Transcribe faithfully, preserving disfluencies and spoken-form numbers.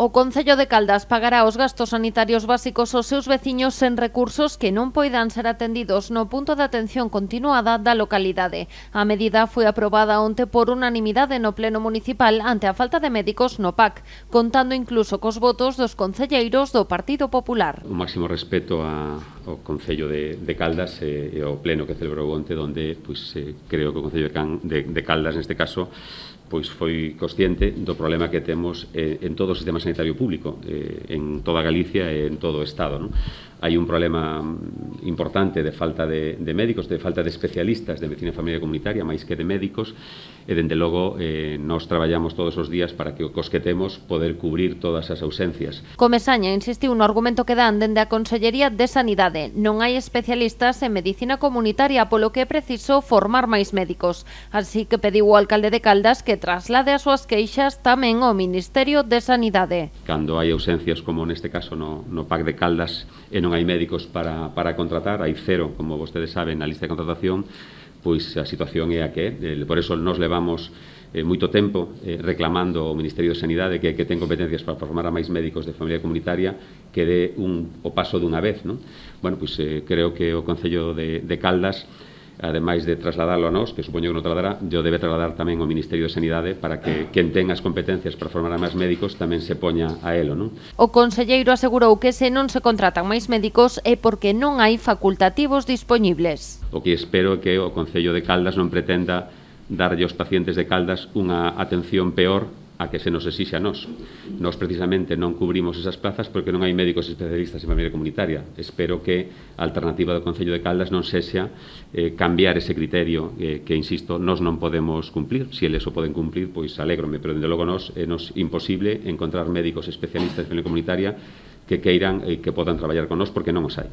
O Concello de Caldas pagará os gastos sanitarios básicos aos seus veciños sen recursos que non poidan ser atendidos no punto de atención continuada da localidade. A medida foi aprobada onte por unanimidade no Pleno Municipal ante a falta de médicos no P A C, contando incluso cos votos dos concelleiros do Partido Popular. O máximo respeto a, ao Concello de, de Caldas e, e ao Pleno que celebrou onte, donde pois, eh, creo que o Concello de, Can, de, de Caldas, neste caso, pois foi consciente do problema que temos eh, en todo o sistema sanitario público, eh, en toda Galicia e en todo o Estado, non? Hai un problema importante de falta de, de médicos, de falta de especialistas de medicina familiar comunitaria, máis que de médicos, e, dende logo, eh, nós traballamos todos os días para que o cos que temos poder cubrir todas as ausencias. Comesaña insistiu no argumento que dan dende a Consellería de Sanidade. Non hai especialistas en medicina comunitaria, polo que é preciso formar máis médicos. Así que pediu o alcalde de Caldas que traslade as súas queixas tamén ao Ministerio de Sanidade. Cando hai ausencias, como neste caso no, no P A C de Caldas, e non hai médicos para, para contratar, hai cero, como vostedes saben, na lista de contratación, pois a situación é a que é. Por eso nos levamos eh, moito tempo eh, reclamando ao Ministerio de Sanidade que, que ten competencias para formar a máis médicos de familia comunitaria que dé un, o paso dunha vez, non? Bueno, pois eh, creo que o Concello de, de Caldas, ademais de trasladarlo a nós, que supoño que non trasladará, yo debe trasladar tamén ao Ministerio de Sanidade para que quen ten as competencias para formar a máis médicos tamén se poña a elo, non? O conselleiro asegurou que se non se contratan máis médicos é porque non hai facultativos dispoñibles. O que espero é que o Concello de Caldas non pretenda darlle aos pacientes de Caldas unha atención peor a que se nos exixe a nós. Nós precisamente non cubrimos esas plazas porque non hai médicos especialistas en familia comunitaria. Espero que a alternativa do Concello de Caldas non sexa eh, cambiar ese criterio eh, que, insisto, nós non podemos cumplir. Si eles o poden cumplir, pois alégrome, pero dende logo nós é nos imposible encontrar médicos especialistas en familia comunitaria que queiran e eh, que podan traballar con nós porque non os hai.